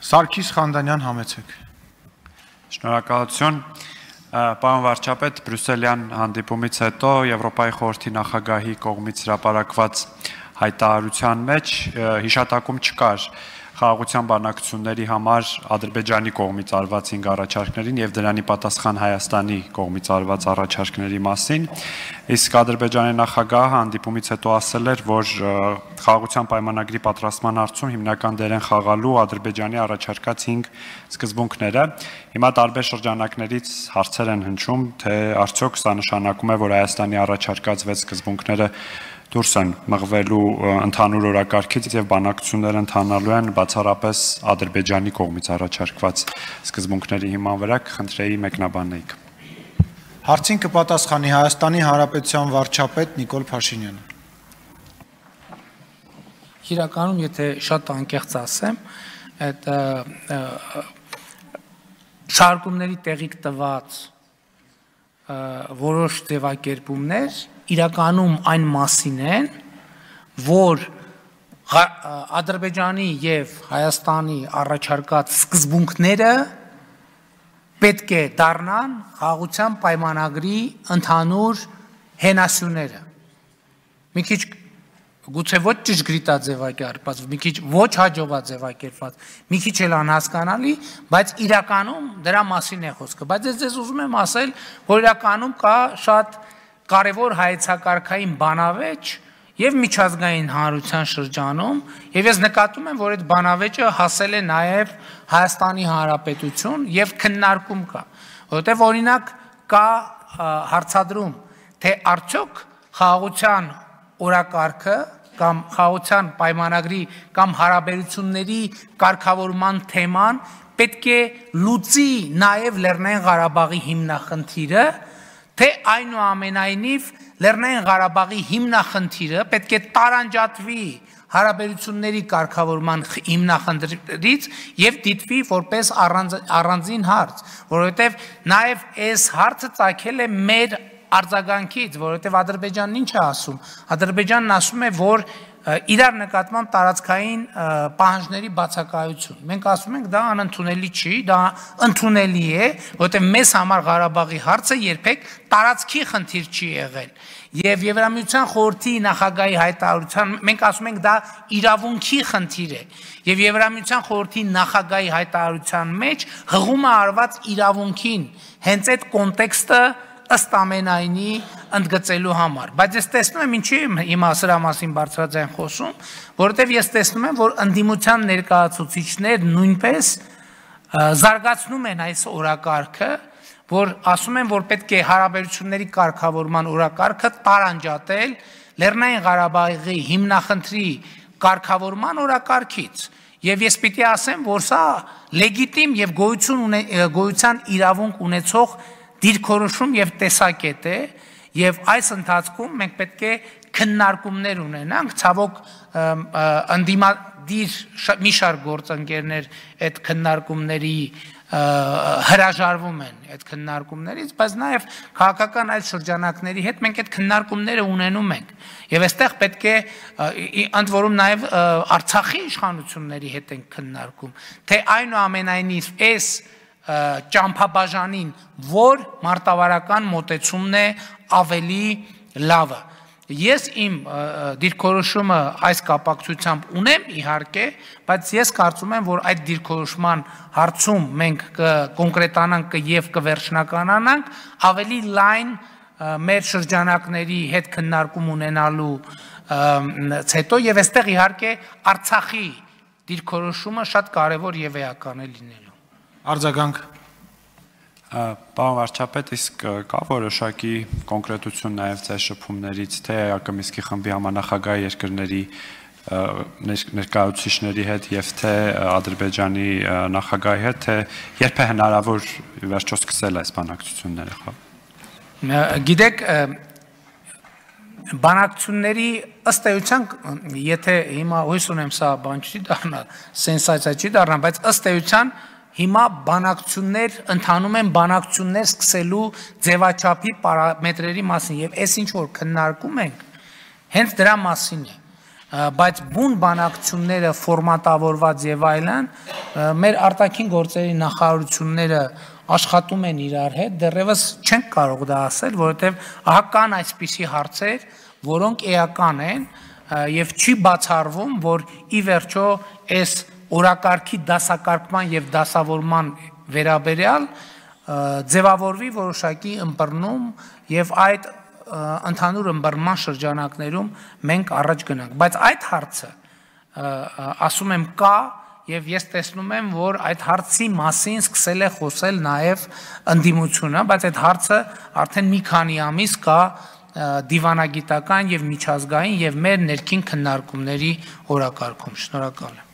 Սարգիս Խանդանյան, համեցեք։ Շնորհակալություն, պարոն վարչապետ, Բրյուսելյան հանդիպումից հետո Եվրոպայի խորհրդի նախագահի կողմից հրապարակված հայտարարության մեջ հիշատակում չկար խաղաղության բանակցությունների համար Ադրբեջանի կողմից արված 5 առաջարկներին եւ դրանի պատասխան Հայաստանի կողմից արված առաջարկների մասին, իսկ Ադրբեջանի նախագահը հանդիպումից հետո ասել էր, որ խաղաղության պայմանագրի պատրաստման հարցում հիմնական դեր են խաղալու Ադրբեջանի առաջարկած 5 սկզբունքները։ Հիմա տարբեր շրջանակներից հարցեր են հնչում, թե արդյոք սա նշանակում է, որ Հայաստանի առաջարկած 6 սկզբունքները դուրս են մղվելու ընդհանուր օրակարգից եւ բանակցությունները ընթանալու են բացառապես Ադրբեջանի կողմից առաջարկված սկզբունքների հիման վրա, կխնդրեի մեկնաբանեիք։ Հարցին կպատասխանի Հայաստանի Հանրապետության վարչապետ Նիկոլ Փաշինյանը։ Իրականում, եթե շատ անկեղծ ասեմ, այդ շարքումների տեղիք տված որոշ ձևակերպումներ իրականում այն մասին են, որ Ադրբեջանի եւ Հայաստանի առաջարկած սկզբունքները պետք է դառնան խաղաղության պայմանագրի ընդհանուր հենասյուները։ Մի քիչ գուցե ոչ ճշգրիտաձևակերպված, մի քիչ ոչ հաջողաձևակերպված, մի քիչ էլ անհասկանալի, բայց իրականում դրա մասին է խոսքը։ Բայց ես ձեզ ուզում եմ ասել, որ իրականում կա շատ կարևոր հայեցակարգային բանավեճ եւ միջազգային հանրության շրջանում, եւ ես նկատում եմ, որ այդ բանավեճը հասել է նաեւ Հայաստանի Հանրապետություն եւ քննարկում կա, որովհետեւ օրինակ կա հարցադրում, թե արդյոք խաղաղության օրակարգը կամ խաղաղության պայմանագրի կամ հարաբերությունների կարգավորման թեման պետք է լուծի նաեւ Լեռնային Ղարաբաղի հիմնախնդիրը, թե այնուամենայնիվ Լեռնային Ղարաբաղի հիմնախնդիրը պետք է տարանջատվի հարաբերությունների կարգավորման հիմնախնդրից եւ դիտվի որպես առանձին հարց, որովհետեւ նաեւ այս հարցը ծագել է մեր արձագանքից, որովհետեւ Ադրբեջանն ինչ է ասում։ Ադրբեջանն ասում է, որ իրար նկատմամբ տարածքային պահանջների բացակայություն։ Մենք ասում ենք դա անընդունելի չի, դա ընդունելի է, որովհետև մեզ համար Ղարաբաղի հարցը երբեք տարածքի խնդիր չի եղել։ Եվ Եվրամիության խորհրդի նախագահի հայտարարության մենք ասում ենք դա իրավունքի խնդիր է։ Եվ Եվրամիության խորհրդի նախագահի հայտարարության մեջ հղում է արված իրավունքին, հենց այդ կոնտեքստը ըստ ամենայնի ընդգծելու համար, բայց ես տեսնում եմ ինչի հիմա սրա մասին բարձրաձայն խոսում, որովհետև ես տեսնում եմ, որ ընդդիմության ներկայացուցիչներ նույնպես զարգացնում են այս օրակարգը, որ ասում են, որ պետք է հարաբերությունների կարգավորման օրակարգը տարանջատել Լեռնային Ղարաբաղի հիմնախնդրի կարգավորման օրակարգից, եւ ես պիտի ասեմ, որ սա լեգիտիմ եւ գոյության իրավունք ունեցող դիրքորոշում եւ տեսակետ է, եւ այս ընթացքում մենք պետք է քննարկումներ ունենանք, ցավոք ընդդիմադիր մի շարք գործընկերներ այդ քննարկումների հրաժարվում են այդ քննարկումներից, բայց նաեւ քաղաքական այլ շրջանակների հետ մենք այդ քննարկումները ունենում ենք եւ այստեղ պետք է ընդ որում նաեւ Արցախի իշխանությունների հետ ենք քննարկում, թե այնուամենայնիվ այս ճամփաբաժանին որ մարտավարական մոտեցումն է ավելի լավը։ Ես իմ դիրքորոշումը այս կապակցությամբ ունեմ իհարկե, բայց ես կարծում եմ, որ այդ դիրքորոշման հարցում մենք կկոնկրետանանք եւ կվերջնականանանք ավելի լայն մեր շրջանակների հետ քննարկում ունենալու հետո եւ այստեղ իհարկե Արցախի դիրքորոշումը շատ կարեւոր եւ էական է լինելու։ Արձագանք։ Պարոն վարչապետ, իսկ կա որոշակի կոնկրետություն նաև ձեր շփումներից, թե ԱԿՄ-ի խմբի համանախագահ երկրների ներկայացուցիչների հետ եւ թե Ադրբեջանի նախագահի հետ, թե երբ է հնարավոր վերջո սկսել այս բանակցությունները։ Գիտեք, բանակցությունների ըստ էության, եթե հիմա հույս ունեմ սա բան չի դառնա, սենսացիա չի դառնա, բայց ըստ էության հիմա բանակցություններ ընթանում են բանակցություններ սկսելու ձևաչափի պարամետրերի մասին եւ այս ինչ որ քննարկում ենք հենց դրա մասին է բայց բուն բանակցությունները ֆորմատավորված եւ այլն մեր արտաքին գործերի նախարարությունները աշխատում են իրար հետ, դեռևս չենք կարող դա ասել, որովհետեւ ահա կան այսպիսի հարցեր, որոնք էական են եւ չի բացառվում, որ ի վերջո այս օրակարգի դասակարգման եւ դասավորման վերաբերյալ ձևավորվի որոշակի ըմբռնում եւ այդ ընդհանուր ըմբռնման շրջանակներում մենք առաջ գնանք, բայց այդ հարցը ասում եմ կա եւ ես տեսնում եմ, որ այդ հարցի մասին սկսել է խոսել նաեւ ընդդիմությունը, բայց այդ հարցը արդեն մի քանի ամիս կա դիվանագիտական եւ միջազգային եւ մեր ներքին քննարկումների օրակարգում։ Շնորհակալ եմ։